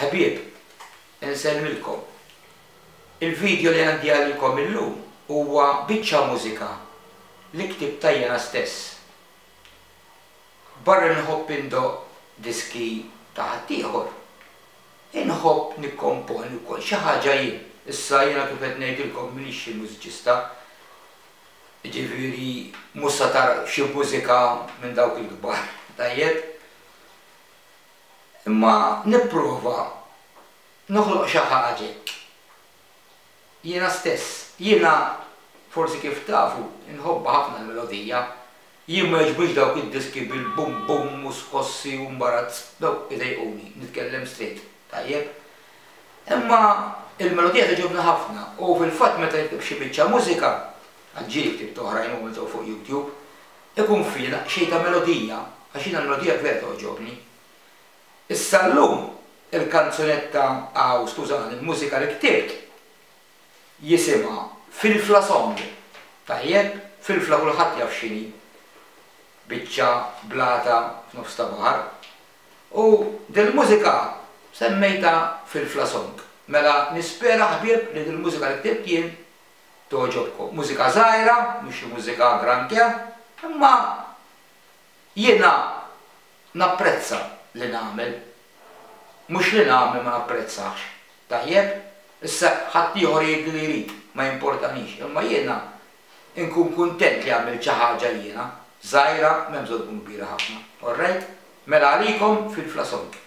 Ħbieb, insellmilkom. Il-video li għandi għalikom illum huwa biċċa mużika li ktibtha jiena stess. Barra li nħobb indoqq diski ta' ħaddieħor, inħobb nikkomponi wkoll xi ħaġa jien. Issa jiena kif qed ngħidilkom m'iniex xi mużiċista, jiġifieri mhux sa tara xi mużika minn dawk il-kbar, tajjeb? Imma nipprova noħloq xi ħaġa hekk. Jiena stess. Jiena, forsi kif tafu, inħobbha ħafna l-melodija. Jien ma jogħġbunix dawk id-diski bil-bum bum u skossi u mbarazz, dawk idejquni, nitkellem straight, tajjeb? Imma il-melodija togħġobni ħafna u fil-fatt meta nikteb xi biċċa mużika, għax ġieli ktibt oħrajn u għamilthom fuq YouTube, ikun fiha daqsxejn ta' melodija, għax jiena l-melodija vera togħġobni. Issa llum il-kanzunetta aw skużani l-mużika li ktibt jisimha Filfla Song. Tajjeb? Filfla kulħadd jaf x'inhi. Biċċa blata f'nofs ta' baħar. U dil-mużika semmejtha Filfla Song. Mela nispera ħbieb li dil-mużika li ktibt jien togħġobkom. Mużika żgħira, mhux xi mużika granché, imma jiena napprezza li nagħmel. Mhux li nagħmel ma napprezzahx. Tajjeb? Issa ħaddieħor jgħid li jrid, ma jimportanix, imma jiena nkun kuntent li għamilt xi ħaġa jiena, żgħira, m'hemm bżonn tkun kbira ħafna. All right? Mela għalikom Filfla Song.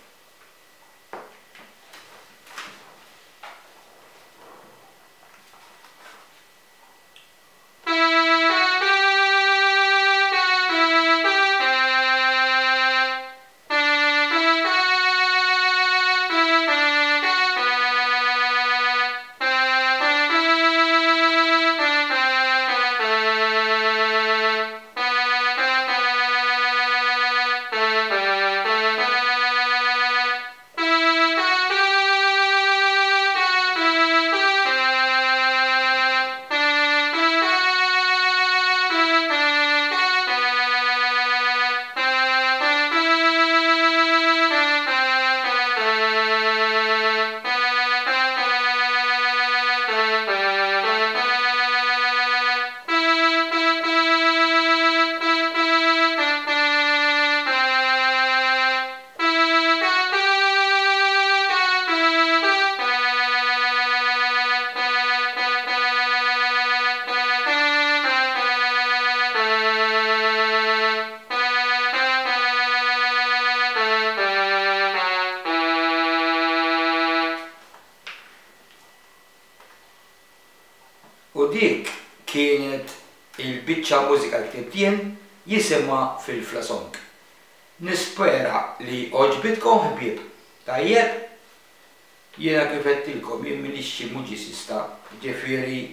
U dik kienet il-biċċa mużika li ktibt jien jisimha Filfla Song. Nispera li għoġbitkom ħbieb. Tajjeb? Jiena kif għedtilkom jien m'iniex xi muġisista, ġifieri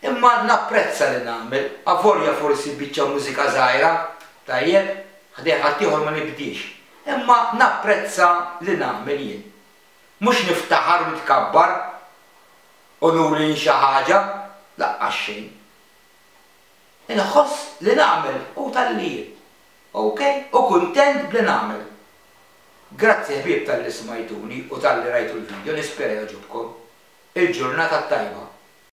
imma napprezza li nagħmel, avolja forsi biċċa mużika żgħira, tajjeb? Ħdejn ħaddieħor ma nibdiex. Imma napprezza li nagħmel jien. Mhux niftaħar u nitkabbar u nuri jien xi ħaġa, laqqas xejn. Inħoss li nagħmel u talli jien. Ok? U kuntent b'li nagħmel. Grazzi ħbieb talli smajtuni u talli rajtu l-video nispera jogħġobkom. Il-ġurnata t-tajba.